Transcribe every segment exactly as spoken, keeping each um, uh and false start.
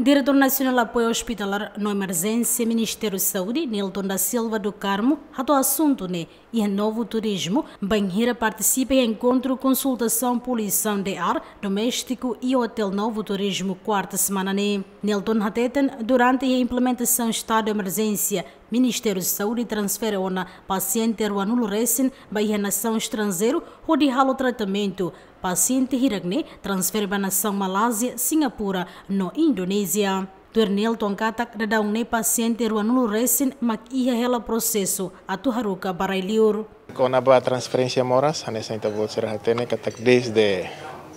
Diretór Nasionál Apoiu Ospitalar no Emerjénsia Ministériu Saúde, Nilton da Silva do Carmo, hato'o asuntu ne'e iha Novo Turismo, bainhira partisipa iha enkontru konsultasaun poluisaun de ar doméstiku iha Hotel Novo Turismo, kuarta semana ne'e. Nilton hateten, durante iha implementasaun estadu de emerjénsia, Ministériu Saúde transfere ona pasiente ruanulu resin ba iha nasaun estranjeiru hodi halo tratamentu. Pasiente hirak ne'e transfere ba nasaun Malázia, Singapura no Indonézia. Tuir Nilton katak, daudaun ne'e pasiente ruanulu resin mak iha hela prosesu atu haruka ba rai-liur. Kona-ba transferénsia moras, hanesan ita-boot sira hatene katak dezde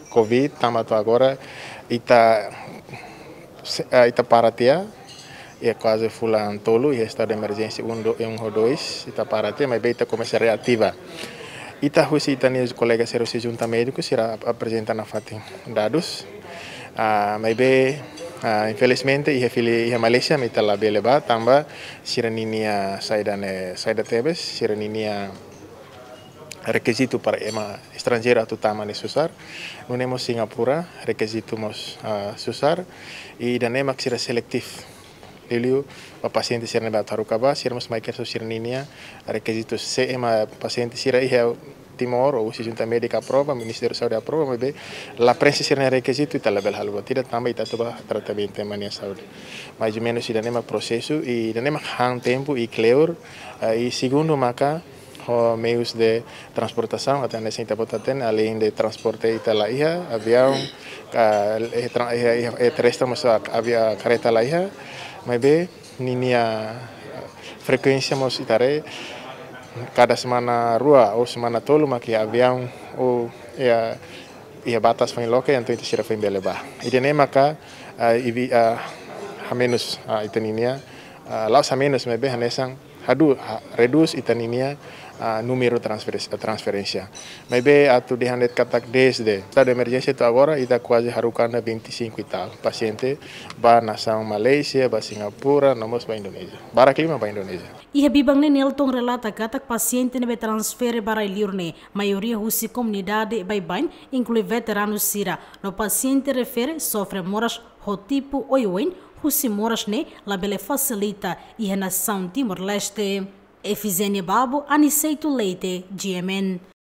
covid tanba to'o agora ita, se-, ah, ita para tiha, iha kuaze fulan tolu, iha estadu de emerjénsia um, do-, um ou dois, ita para tiha, maibé ita komesa reativa. Ita husi ita-nia kolega sira husi junta médiku, sira ap-, aprezenta nafatin dadus. Ah, maibé, ah, infelizmente, iha fila, iha Malázia, mak ita labele bá, tanba sira-ninia saida ne'e, saida tebes, sira-ninia rekizitu para ema estranjeiru atu tama ne'e susar. Nune'e mós Singapura, rekizitu mós, ah, susar. I ida-ne'e mak sira selektif. Liuliu ba pasiente sira ne'ebé atu haruka bá, sira mós mai kedas ho sira-ninia rekizitu. Se ema pasiente sira iha Timor, ou se junta médika aprova, Ministériu Saúde aprova, maibé la prenxe sira-nia rekizitu, ita labele halo buat ida tanba ita atu bá tratamentu ema nia saúde. Mais ou menus ida-ne'e mak prosesu, i ida-ne'e mak han tempu i kleur, ah, i segundu maka ho meius de transportasaun, atu hanesan ita-boot hatene, aleinde transporte ita la iha, aviaun, ka, eh, tra-, eh, eh, eh, terrestre mós ak-, avia-, kareta la iha, maibé ninia, eh, frekuénsia mós ita haree, kada semana rua ou semana tolu mak iha aviaun ou iha, iha batas foin loke, entaun ita sira foin bele bá. Ida-ne'e maka, ah, ivi-, ah, hamenus, ah, ita-ninia, ah, la'ós hamenus, maibé hanesan hadu-, ha-, redús ita-ninia, ah, númeru transferes-, transferénsia. Maibé atu dehan de'it katak dezde estadu de emerjénsia to'o agora, ita kuaze haruka ona vinte e cinco e tal pasiente ba nasaun Malázia, ba Singapura, no mós ba Indonézia. Barak liu mak ba Indonézia. Iha biban ne'e Nilton relata katak pasiente ne'ebé transfere ba rai-liur ne'e maioria husi komunidade baibain, inklui veteranu sira, no pasiente refere sofre moras ho tipu oioin, husi moras ne'e labele fasilita iha nasaun Timor-Leste. Efizénia Babo, Aniceto Leite, G M N.